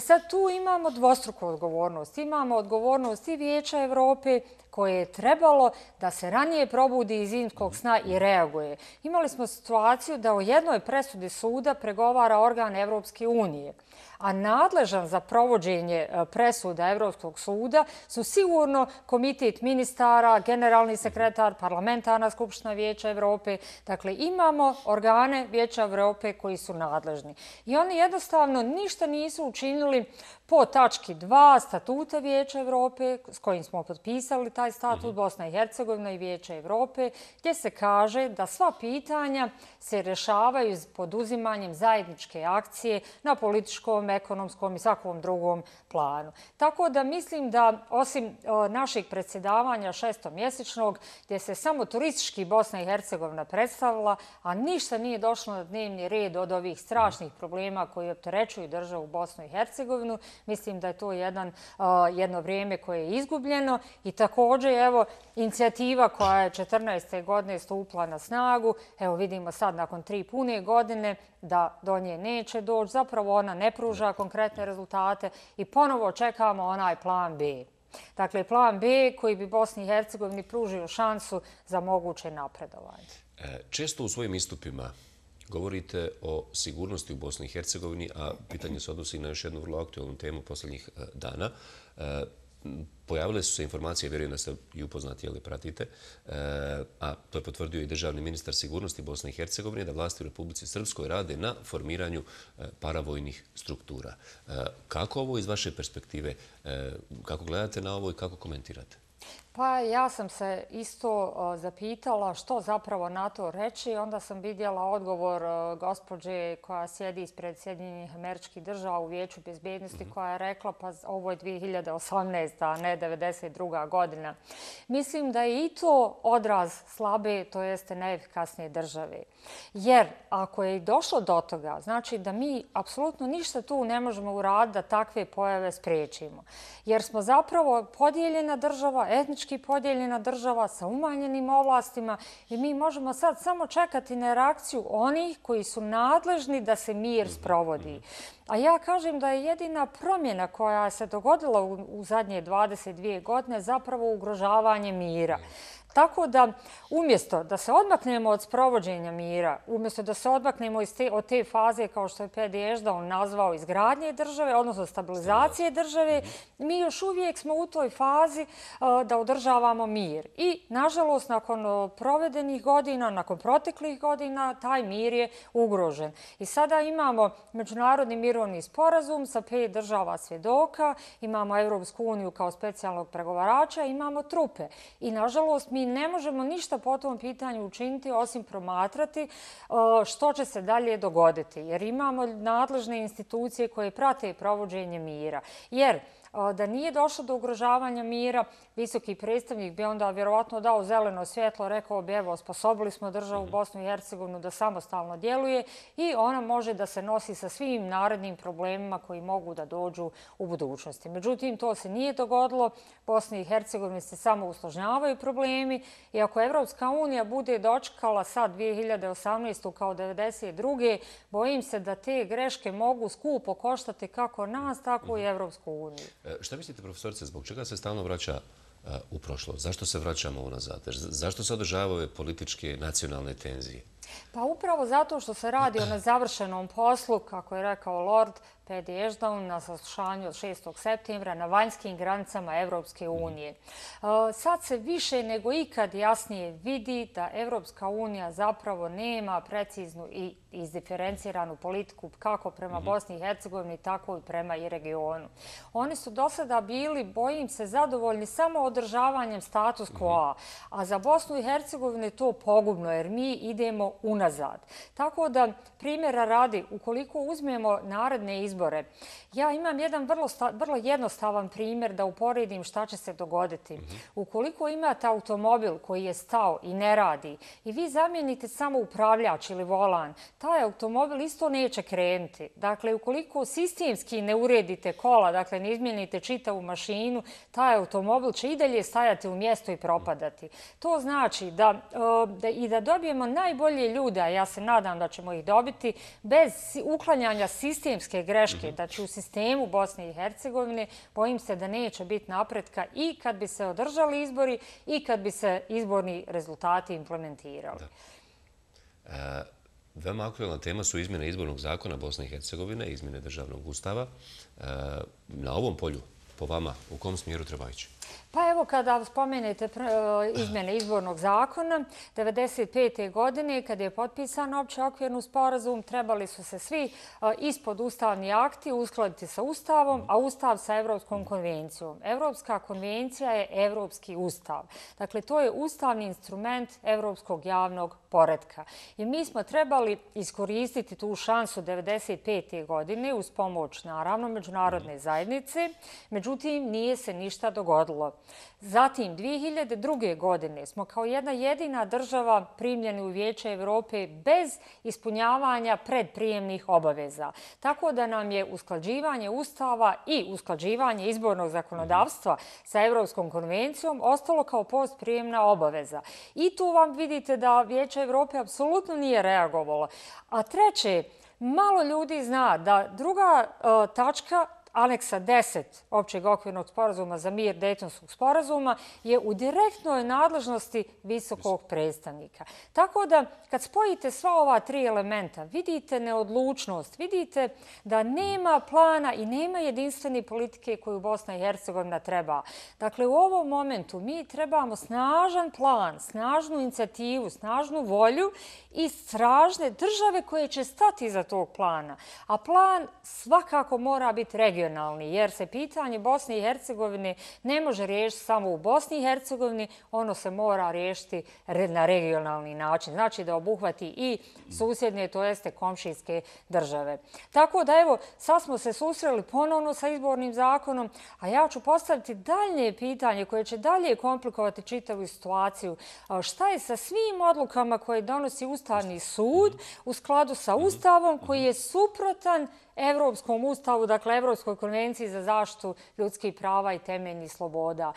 S15: Sad tu imamo dvostruku odgovornost. Imamo odgovornost i Vijeća Evrope koje je trebalo da se ranije probudi iz zimskog sna i reaguje. Imali smo situaciju da o jednoj presudi suda pregovara organ Evropske unije, a nadležan za provođenje presuda Evropskog suda su sigurno Komitet ministara, generalni sekretar, parlamentarna skupština Vijeća Evrope. Dakle, imamo organe Vijeća Evrope koji su nadležni. I oni jednostavno ništa nisu učinili po tački 2 statuta Vijeća Evrope, s kojim smo potpisali taj statut Bosna i Hercegovina i Vijeća Evrope, gdje se kaže da sva pitanja se rješavaju pod uzimanjem zajedničke akcije na političkom, ekonomskom i svakom drugom planu. Tako da mislim da osim našeg predsjedavanja šestomjesečnog, gdje se samo turistički Bosna i Hercegovina predstavila, a ništa nije došlo na dnevni red od ovih strašnih problema koji opterećuju državu Bosnu i Hercegovinu, mislim da je to jedno vrijeme koje je izgubljeno i također evo inicijativa koja je 14. godine stupila na snagu, evo vidimo sad nakon 3 pune godine da do nje neće doći, zapravo ona ne pruža konkretne rezultate i ponovo čekamo onaj plan B. Dakle, plan B koji bi Bosni i Hercegovini pružio šansu za moguće napredovanje.
S2: Često u svojim istupima govorite o sigurnosti u Bosni i Hercegovini, a pitanje se odnosi na još jednu vrlo aktualnu temu posljednjih dana. Pojavile su se informacije, vjerujem da ste i upoznati ili pratite, a to je potvrdio i državni ministar sigurnosti Bosne i Hercegovine, da vlasti u Republici Srpskoj rade na formiranju paravojnih struktura. Kako ovo iz vaše perspektive, kako gledate na ovo i kako komentirate?
S15: Pa ja sam se isto zapitala što zapravo na to reći. Onda sam vidjela odgovor gospođe koja sjedi ispred Sjedinjenih Američkih Država u Vijeću bezbednosti koja je rekla pa ovo je 2018. a ne 1992. godina. Mislim da je i to odraz slabe, to jeste neefikasnije države. Jer ako je i došlo do toga, znači da mi apsolutno ništa tu ne možemo uraditi da takve pojave spriječimo. Jer smo zapravo podijeljena država, etnički podijeljena država sa umanjenim ovlastima i mi možemo sad samo čekati na reakciju onih koji su nadležni da se mir sprovodi. A ja kažem da je jedina promjena koja se dogodila u zadnje 22 godine zapravo ugrožavanje mira. Tako da umjesto da se odmaknemo od sprovođenja mira, umjesto da se odmaknemo od te faze kao što je Pedi Ešdaun nazvao izgradnje države, odnosno stabilizacije države, mi još uvijek smo u toj fazi da održavamo mir. I nažalost nakon provedenih godina, nakon proteklih godina, taj mir je ugrožen. I sada imamo Međunarodni mirovni sporazum sa 5 država svjedoka, imamo Evropsku uniju kao specijalnog pregovarača, imamo trupe. I nažalost mi ne možemo ništa po tom pitanju učiniti osim promatrati što će se dalje dogoditi. Jer imamo nadležne institucije koje prate provođenje mira. Jer da nije došlo do ugrožavanja mira, visoki predstavnik bi onda vjerovatno dao zeleno svjetlo, rekao bi evo, osposobili smo državu Bosnu i Hercegovinu da samostalno djeluje i ona može da se nosi sa svim narednim problemima koji mogu da dođu u budućnosti. Međutim, to se nije dogodilo. Bosni i Hercegovini se samo usložnjavaju problemi i ako Evropska unija bude dočekala sad 2018. kao 1992. bojim se da te greške mogu skupo koštati kako nas, tako i Evropsku uniju.
S2: Šta mislite, profesorice, zbog čega se stalno vraća u prošlost? Zašto se vraćamo unazad? Zašto se održavaju političke nacionalne tenzije?
S15: Pa upravo zato što se radi o nezavršenom poslu, kako je rekao Lord Pedi Ešdaun na saslušanju od 6. septembra na vanjskim granicama Evropske unije. Sad se više nego ikad jasnije vidi da Evropska unija zapravo nema preciznu i izdiferenciranu politiku kako prema Bosni i Hercegovini, tako i prema i regionu. Oni su do sada bili, bojim se, zadovoljni samo održavanjem status quo, a za Bosnu i Hercegovinu je to pogubno jer mi idemo unazad. Tako da, primjera radi, ukoliko uzmemo naredne izbore, ja imam jedan vrlo jednostavan primjer da uporedim šta će se dogoditi. Ukoliko imate automobil koji je stao i ne radi i vi zamijenite samo upravljač ili volan, taj automobil isto neće krenuti. Dakle, ukoliko sistemski ne uredite kola, dakle ne izmijenite čitavu mašinu, taj automobil će i dalje stajati u mjestu i propadati. To znači da dobijemo najbolje ljude, a ja se nadam da ćemo ih dobiti, bez uklanjanja sistemske greške, znači u sistemu Bosne i Hercegovine, bojim se da neće biti napretka i kad bi se održali izbori i kad bi se izborni rezultati implementirali.
S2: Veoma aktualna tema su izmjene izbornog zakona Bosne i Hercegovine, izmjene državnog ustava. Na ovom polju, po vama, u kom smjeru treba ići?
S15: Pa evo kada spomenete izmjene izbornog zakona, 1995. godine kad je potpisan opći okvirni sporazum, trebali su se svi ispod ustavni akti uskladiti sa Ustavom, a Ustav sa Evropskom konvencijom. Evropska konvencija je Evropski ustav. Dakle, to je ustavni instrument Evropskog javnog poretka. I mi smo trebali iskoristiti tu šansu 1995. godine uz pomoć, naravno, međunarodne zajednice. Međutim, nije se ništa dogodilo. Zatim, 2002. godine smo kao jedna jedina država primljeni u Vijeće Evrope bez ispunjavanja predprijemnih obaveza. Tako da nam je usklađivanje Ustava i usklađivanje izbornog zakonodavstva sa Evropskom konvencijom ostalo kao postprijemna obaveza. I tu vam vidite da Vijeće Evrope apsolutno nije reagovalo. A treće, malo ljudi zna da druga tačka, aneksa 10 općeg okvirnog sporazuma za mir Dejtonskog sporazuma je u direktnoj nadležnosti visokog predstavnika. Tako da kad spojite sva ova tri elementa, vidite neodlučnost, vidite da nema plana i nema jedinstvene politike koju Bosna i Hercegovina treba. Dakle, u ovom momentu mi trebamo snažan plan, snažnu inicijativu, snažnu volju i stražne države koje će stati iza tog plana. A plan svakako mora biti regionalni, jer se pitanje Bosne i Hercegovine ne može riješiti samo u Bosni i Hercegovini, ono se mora riješiti na regionalni način. Znači da obuhvati i susjedne, to jeste komšijske države. Tako da evo, sad smo se susreli ponovno sa izbornim zakonom, a ja ću postaviti daljnje pitanje koje će dalje komplikovati čitavu situaciju. Šta je sa svim odlukama koje donosi Ustavni sud u skladu sa Ustavom koji je suprotan Evropskom ustavu, dakle Evropskoj konvenciji za zaštitu ljudskih prava i temeljnih sloboda.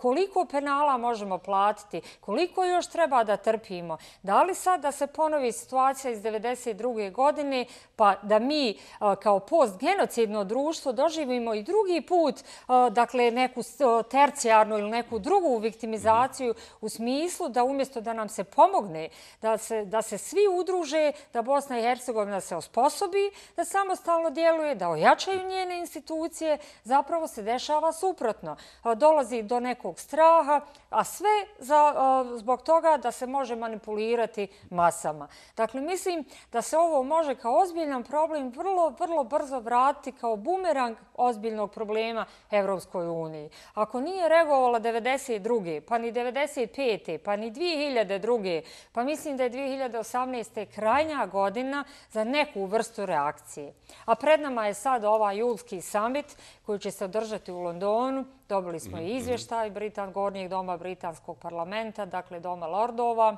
S15: Koliko penala možemo platiti? Koliko još treba da trpimo? Da li sad da se ponovi situacija iz 1992. godine pa da mi kao postgenocidno društvo doživimo i drugi put dakle neku tercijarnu ili neku drugu viktimizaciju u smislu da umjesto da nam se pomogne, da se svi udruže, da Bosna i Hercegovina se osposobi, da samostalno djeluje, da ojačaju njene institucije, zapravo se dešava suprotno. Dolazi do nekog straha, a sve zbog toga da se može manipulirati masama. Dakle, mislim da se ovo može kao ozbiljan problem vrlo brzo vratiti kao bumerang ozbiljnog problema Evropskoj uniji. Ako nije reagovala 1992. pa ni 1995. pa ni 2002. pa mislim da je 2018. krajnja godina za neku vrstu reakcije. A pred nama je sad ovaj julski summit koji će se održati u Londonu. Dobili smo i izvještaj Gornjeg doma Britanskog parlamenta, dakle Doma lordova.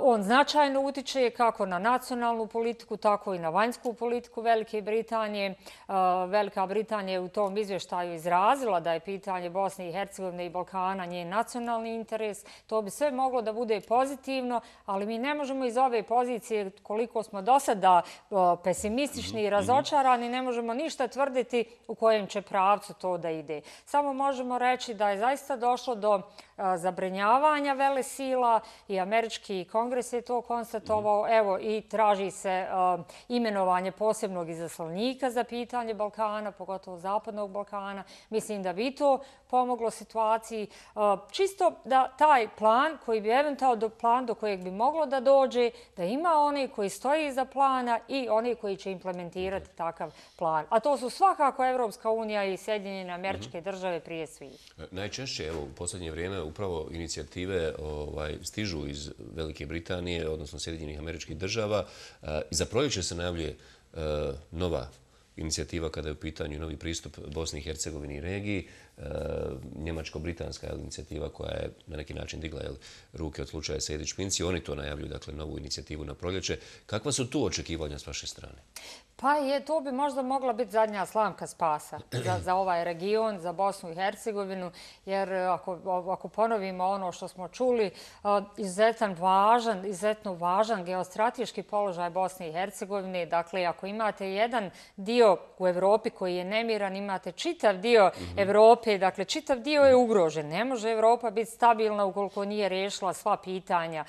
S15: On značajno utiče kako na nacionalnu politiku, tako i na vanjsku politiku Velike Britanije. Velika Britanija je u tom izvještaju izrazila da je pitanje Bosne i Hercegovine i Balkana njen nacionalni interes. To bi sve moglo da bude pozitivno, ali mi ne možemo iz ove pozicije, koliko smo do sada pesimistični i razočarani, ne možemo ništa tvrditi u kojem će pravcu to da ide. Samo možemo reći da je zaista došlo do zabrinjavanja velesila i američki kongres je to konstatovao. Evo i traži se imenovanje posebnog izaslanika za pitanje Balkana, pogotovo Zapadnog Balkana. Mislim da bi to pomoglo situaciji. Čisto da taj plan koji bi eventualno plan do kojeg bi moglo da dođe, da ima oni koji stoji iza plana i oni koji će implementirati takav plan. A to su svakako Evropska unija i Sjedinjene Američke Države prije svih.
S2: Najčešće, evo, u posljednje vrijeme upravo inicijative stižu iz Velike Britanije, odnosno Sjedinjenih Američkih Država. I za proljeće se najavljuje nova inicijativa kada je u pitanju novi pristup Bosni i Hercegovini i regiji. Njemačko-britanska inicijativa koja je na neki način digla ruke od slučaja Sejdić-Pinci. Oni to najavljuju, dakle, novu inicijativu na proljeće. Kakva su tu očekivanja s vaše strane?
S15: Pa to bi možda mogla biti zadnja slamka spasa za ovaj region, za Bosnu i Hercegovinu, jer ako ponovimo ono što smo čuli, izuzetno važan geostrateški položaj Bosne i Hercegovine. Dakle, ako imate jedan dio u Evropi koji je nemiran, imate čitav dio Evrope, dakle, čitav dio je ugrožen. Ne može Evropa biti stabilna ukoliko nije riješila sva pitanja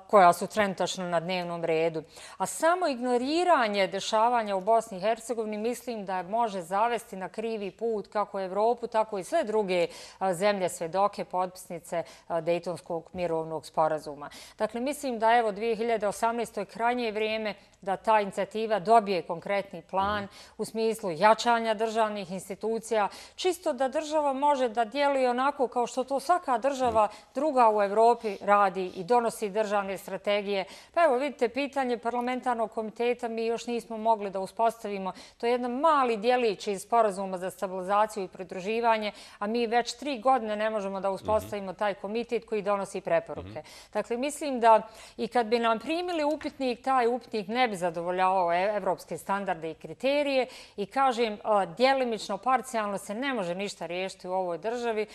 S15: koja su trenutačno na dnevnom redu. A samo ignoriranje dešavanja u Bosni i Hercegovini mislim da može zavesti na krivi put kako Evropu, tako i sve druge zemlje svedoke, potpisnice Dejtonskog mirovnog sporazuma. Dakle, mislim da evo 2018. je krajnje vrijeme da ta inicijativa dobije konkretni plan u smislu jačanja državnih institucija, čisto da država može da djeluje onako kao što to svaka država druga u Evropi radi i donosi državne strategije. Pa evo vidite, pitanje parlamentarnog komiteta mi još nismo mogli da uspostavimo. To je jedan mali djelić iz sporazuma za stabilizaciju i pridruživanje, a mi već 3 godine ne možemo da uspostavimo taj komitet koji donosi preporuke. Dakle, mislim da i kad bi nam primili upitnik, taj upitnik ne bi zadovoljavao evropske standarde i kriterije i kažem, djelimično, parcijalno se ne može ništa riješiti riješiti u ovoj državi.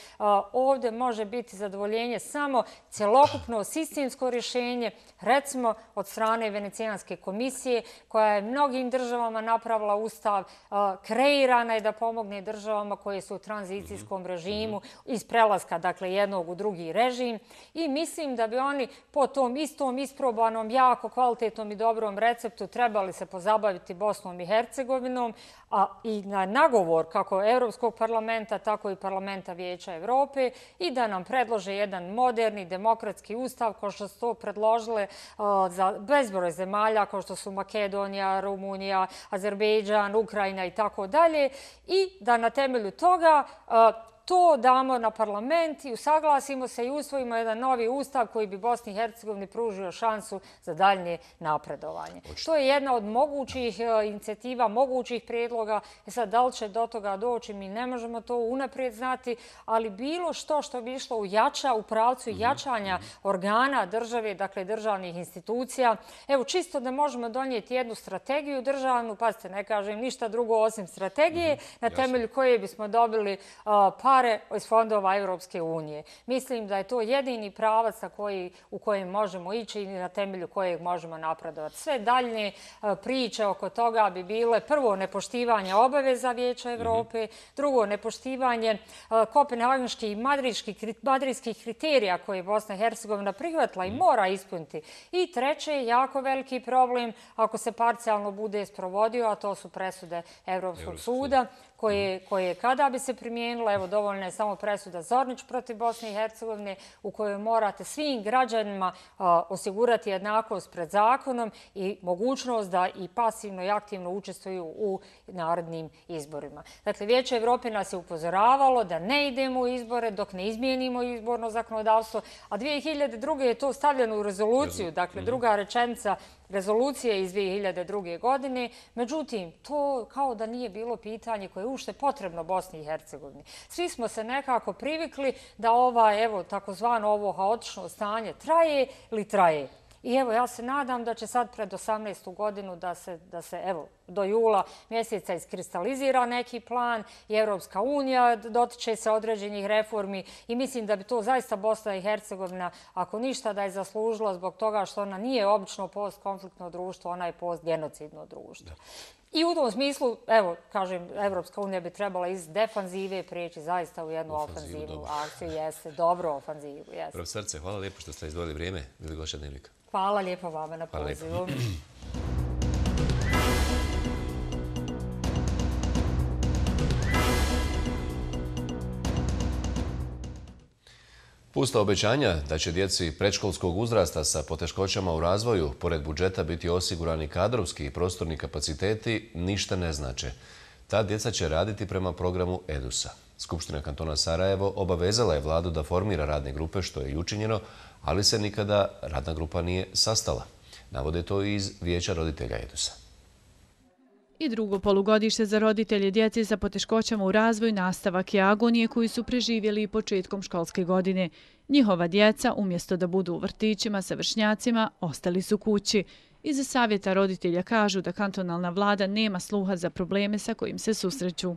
S15: Ovdje može biti zadovoljenje samo cjelokupno sistemsko rješenje, recimo od strane Venecijanske komisije, koja je mnogim državama napravila ustav, kreirana je da pomogne državama koje su u tranzicijskom režimu iz prelaska, dakle, jednog u drugi režim. I mislim da bi oni po tom istom isprobanom, jako kvalitetnom i dobrom receptu trebali se pozabaviti Bosnom i Hercegovinom, a i na nagovor kako Europskog parlamenta, tako i Parlamenta Vijeća Evrope i da nam predlože jedan moderni, demokratski ustav kao što su to predložile za bezbroj zemalja kao što su Makedonija, Rumunija, Azerbejdžan, Ukrajina i tako dalje i da na temelju toga to damo na parlament i usaglasimo se i usvojimo jedan novi ustav koji bi Bosni i Hercegovini pružio šansu za daljnje napredovanje. To je jedna od mogućih inicijativa, mogućih prijedloga. Sad, da li će do toga doći, mi ne možemo to unaprijed znati, ali bilo što bi išlo u pravcu jačanja organa države, dakle državnih institucija. Evo, čisto da možemo donijeti jednu strategiju državnu, pazite, ne kažem ništa drugo osim strategije, na temelju koje bismo dobili pare iz fondova Europske unije. Mislim da je to jedini pravac u kojem možemo ići i na temelju kojeg možemo napredovati. Sve daljne priče oko toga bi bile prvo nepoštivanje obaveza Vijeća Evrope, drugo nepoštivanje kopenhagenskih i madridskih kriterija koje je Bosna i Hercegovina prihvatila i mora ispuniti. I treće, jako veliki problem ako se parcijalno bude sprovodio, a to su presude Evropskog suda, koje kada bi se primijenile, evo dovoljna je samo presuda Zornić protiv Bosne i Hercegovine u kojoj morate svim građanima osigurati jednakost pred zakonom i mogućnost da i pasivno i aktivno učestvuju u narodnim izborima. Dakle, Vijeće Evrope nas je upozoravalo da ne idemo u izbore dok ne izmijenimo izborno zakonodavstvo, a 2002. je to stavljeno u rezoluciju, dakle druga rečenica rezolucije iz 2002. godine. Međutim, to kao da nije bilo pitanje koje je uopšte potrebno Bosni i Hercegovini. Svi smo se nekako privikli da takozvano ovo haotično stanje traje ili traje. I evo, ja se nadam da će sad pred 18. godinu da se evo, do jula mjeseca iskristalizira neki plan i Europska unija dotiče se određenih reformi i mislim da bi to zaista Bosna i Hercegovina, ako ništa, da je zaslužila zbog toga što ona nije obično postkonfliktno društvo, ona je postgenocidno društvo. I u tom smislu, evo, kažem, Evropska unija bi trebala iz defanzive prijeći zaista u jednu ofanzivnu akciju. Jeste, dobro ofanzivu.
S2: Profesorce, hvala lijepo što ste izdvojili vrijeme. Bili gošća Dnevnika.
S15: Hvala lijepo vama na pozivu.
S2: Pusta obećanja da će djeci predškolskog uzrasta sa poteškoćama u razvoju pored budžeta biti osigurani kadrovski i prostorni kapaciteti ništa ne znače. Ta djeca će raditi prema programu EDUS-a. Skupština kantona Sarajevo obavezala je vladu da formira radne grupe, što je i učinjeno, ali se nikada radna grupa nije sastala. Navode to iz Vijeća roditelja EDUS-a.
S11: I drugo polugodište za roditelje djece sa poteškoćama u razvoju nastavak je agonije koju su preživjeli i početkom školske godine. Njihova djeca, umjesto da budu u vrtićima sa vršnjacima, ostali su kući. Iz savjeta roditelja kažu da kantonalna vlada nema sluha za probleme sa kojim se susreću.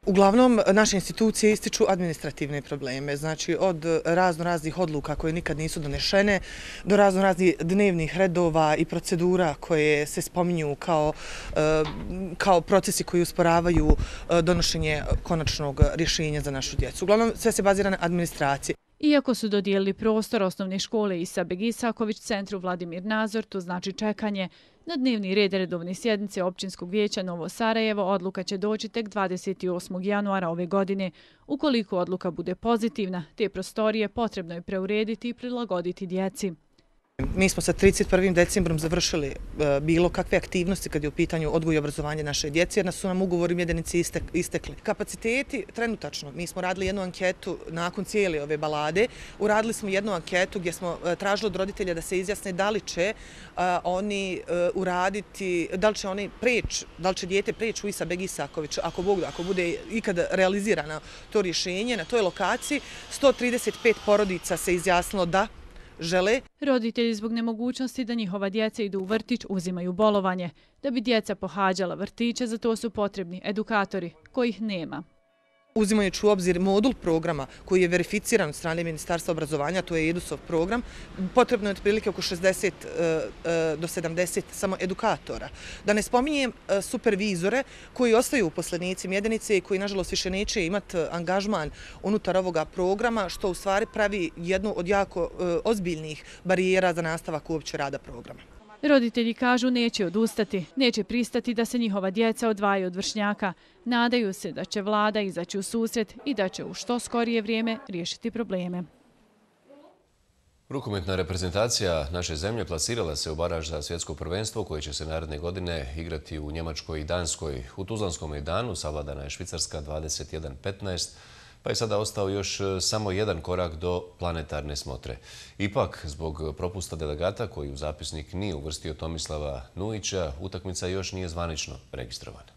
S16: Uglavnom, naše institucije ističu administrativne probleme, znači od raznih odluka koje nikad nisu donešene do raznih dnevnih redova i procedura koje se spominju kao procesi koji usporavaju donošenje konačnog rješenja za našu djecu. Uglavnom, sve se bazira na administraciji.
S11: Iako su dodijelili prostor osnovne škole Isa Begisaković centru Vladimir Nazor, to znači čekanje. Na dnevni red redovne sjednice Općinskog vijeća Novo Sarajevo odluka će doći tek 28. januara ove godine. Ukoliko odluka bude pozitivna, te prostorije potrebno je preurediti i prilagoditi djeci.
S16: Mi smo sa 31. decembrom završili bilo kakve aktivnosti kad je u pitanju odgoj i obrazovanje naše djece, jer su nam ugovori mjedenici istekli. Kapaciteti trenutačno, mi smo radili jednu anketu nakon cijele ove balade, uradili smo jednu anketu gdje smo tražili od roditelja da se izjasne da li će oni uraditi, da li će dijete preći u Isa Begisaković, ako bude ikada realizirano to rješenje na toj lokaciji. 135 porodica se izjasnilo da žele.
S11: Roditelji zbog nemogućnosti da njihova djeca idu u vrtić uzimaju bolovanje. Da bi djeca pohađala vrtiće, za to su potrebni edukatori, kojih nema.
S16: Uzimajući u obzir modul programa koji je verificiran od strane Ministarstva obrazovanja, to je EDUSov program, potrebno je otprilike oko 60 do 70 samo edukatora. Da ne spominjem supervizore koji ostaju uposlenici Mjedenice i koji nažalost više neće imati angažman unutar ovoga programa, što u stvari pravi jednu od jako ozbiljnih barijera za nastavak uopće rada programa.
S11: Roditelji kažu neće odustati, neće pristati da se njihova djeca odvajaju od vršnjaka. Nadaju se da će vlada izaći u susret i da će u što skorije vrijeme riješiti probleme.
S2: Rukometna reprezentacija naše zemlje plasirala se u baraž za svjetsko prvenstvo koje će se naredne godine igrati u Njemačkoj i Danskoj. U Tuzlanskom mejdanu savladana je Švicarska 21-15, pa je sada ostao još samo jedan korak do planetarne smotre. Ipak, zbog propusta delegata koji u zapisnik nije uvrstio Tomislava Nujića, utakmica još nije zvanično registrovana.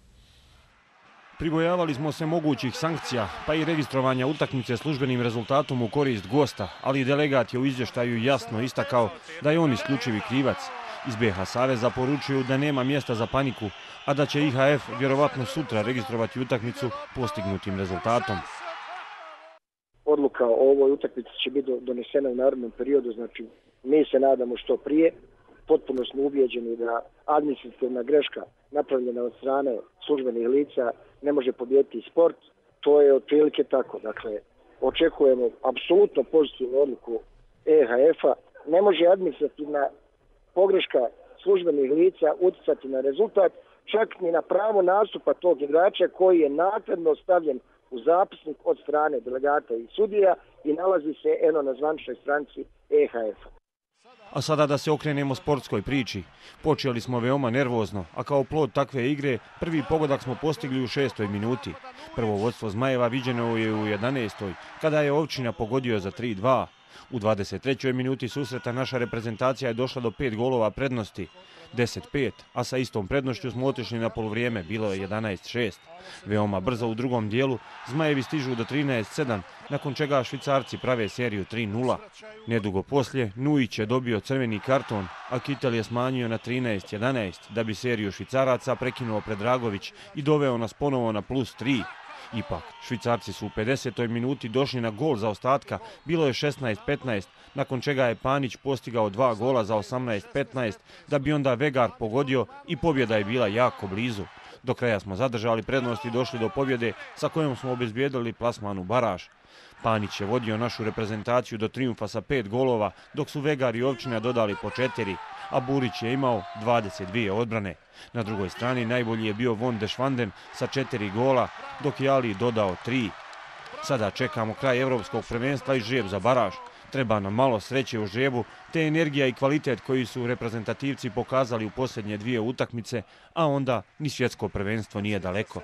S17: Pribojavali smo se mogućih sankcija, pa i registrovanja utakmice službenim rezultatom u korist gosta, ali delegat je u izvještaju jasno istakao da je on isključivi krivac. Iz BiH Saveza poručuju da nema mjesta za paniku, a da će IHF vjerovatno sutra registrovati utakmicu postignutim rezultatom.
S18: Odluka o ovoj utakmici će biti donesena u narednom periodu, znači mi se nadamo što prije. Potpuno smo ubijeđeni da administrativna greška napravljena od strane službenih lica ne može pobijediti sport. To je otprilike tako. Dakle, očekujemo apsolutno pozitivnu odluku EHF-a. Ne može administrativna pogreška službenih lica utjecati na rezultat, čak ni na pravo nastupa tog igrača koji je naknadno stavljen u zapisnik od strane delegata i sudija i nalazi se na zvaničnoj stranici EHF-a.
S17: A sada da se okrenemo sportskoj priči. Počeli smo veoma nervozno, a kao plod takve igre prvi pogodak smo postigli u 6. minuti. Prvo vodstvo Zmajeva viđeno je u 11. kada je Ovčina pogodio za 3-2. U 23. minuti susreta naša reprezentacija je došla do 5 golova prednosti. 10-5, a sa istom prednošću smo otišli na poluvrijeme, bilo je 11-6. Veoma brzo u drugom dijelu Zmajevi stižu do 13-7, nakon čega Švicarci prave seriju 3-0. Nedugo poslije Nujić je dobio crveni karton, a Kitel je smanjio na 13-11, da bi seriju Švicaraca prekinuo Predragović i doveo nas ponovo na +3. Ipak, Švicarci su u 50. minuti došli na gol za ostatka, bilo je 16-15, nakon čega je Panić postigao 2 gola za 18-15, da bi onda Vegar pogodio i pobjeda je bila jako blizu. Do kraja smo zadržali prednost i došli do pobjede sa kojom smo obezbijedili plasman u baraž. Panić je vodio našu reprezentaciju do trijumfa sa 5 golova, dok su Vegar i Ovčina dodali po 4, a Burić je imao 22 odbrane. Na drugoj strani najbolji je bio Von de Schwanden sa 4 gola, dok je Ali dodao 3. Sada čekamo kraj Evropskog prvenstva i žreb za baraž. Treba nam malo sreće u žrebu, te energija i kvalitet koji su reprezentativci pokazali u posljednje 2 utakmice, a onda ni svjetsko prvenstvo nije daleko.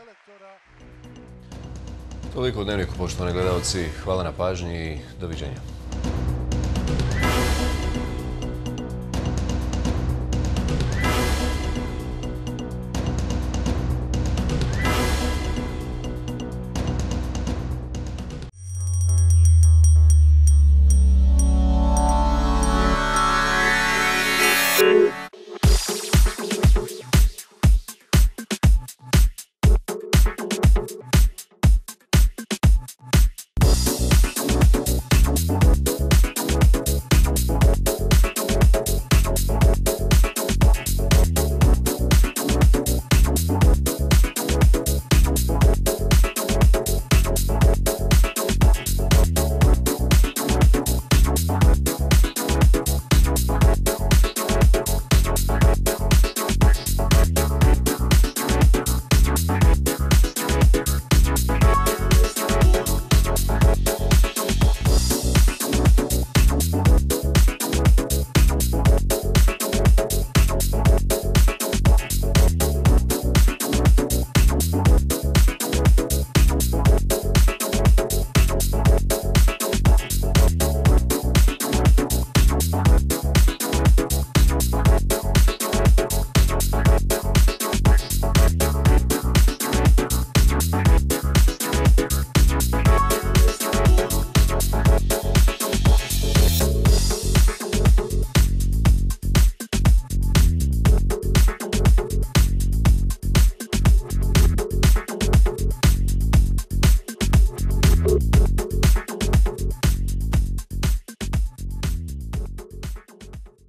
S2: Toliko u Dnevniku, poštovani gledalci. Hvala na pažnji i doviđenja.